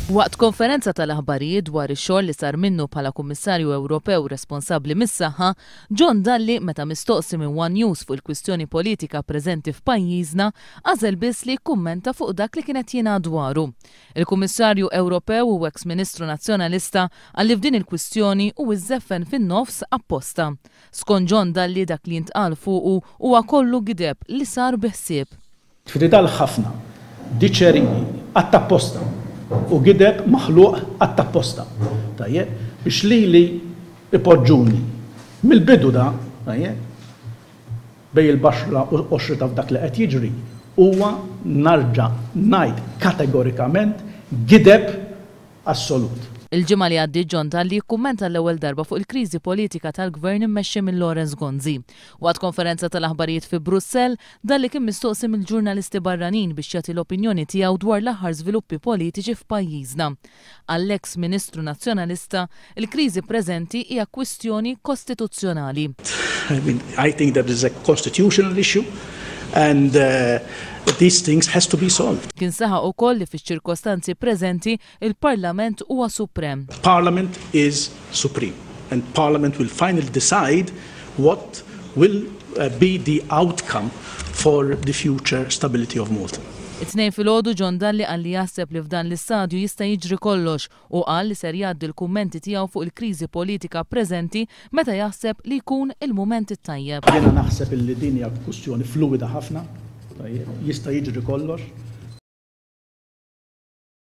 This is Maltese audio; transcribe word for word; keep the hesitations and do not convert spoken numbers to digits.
Waqt konferenza tal-aħbarijiet dwar ix-xogħol li sar minnu bħala Kummissarju Ewropew responsabbli mis-saħħa, John Dalli, meta mistoqsi minn One News fuq il-kwistjoni politika preżenti f'pajjiżna, għażel biss li jikkummenta fuq dak li kienet jingħad dwaru. Il-Kummissarju Ewropew u ex-Ministru Nazzjonalista qal li f'din il-kwistjoni hu iżżeffen fin-nofs apposta. Skont John Dalli, dak li jintqal fuqu huwa kollu gideb li sar bi ħsieb. Tfidal ħafna, diċeriji, għattapposta u gideb maħluq għattapposta. Tajjeb, biex lili ipoġġuni mill-bidu da, tajjeb, bejn il-baxra u qoxrita f'dak li qed jiġri, huwa, narġa' ngħid kategorikament, gideb assolut. Il-ġimgħa li għaddiet, John Dalli kkummenta l-ewwel darba fuq il-kriżi politika tal-gvern immexxi minn Lawrence Gonzi. Waqt konferenza tal-aħbarijiet fi Brussell, Dalli kien mistoqsi mill-ġurnalisti barranin biex jagħti l-opinjoni tiegħu dwar l-aħħar żviluppi politiċi f'pajjiżna. Għall-ex Ministru Nazzjonalista, il-kriżi preżenti hija kwistjoni kostituzzjonali. I mean, I think that is a constitutional issue and uh, these things has to be solved. Kien saħaq ukoll li fiċ-ċirkostanzi preżenti il-Parlament huwa suprem. Parliament is supreme and Parliament will finally decide what will uh, be the outcome for the future stability of Malta. It-Tnejn filgħodu, John Dalli qal li jaħseb li f'dan l-istadju jista' jiġri kollox u qal li ser jgħaddi l-kummenti tiegħu fuq il-kriżi politika preżenti meta jaħseb li jkun il-mument it-tajjeb. Jiena naħseb illi din hija kwistjoni fluwida ħafna, jista' jiġri kollox.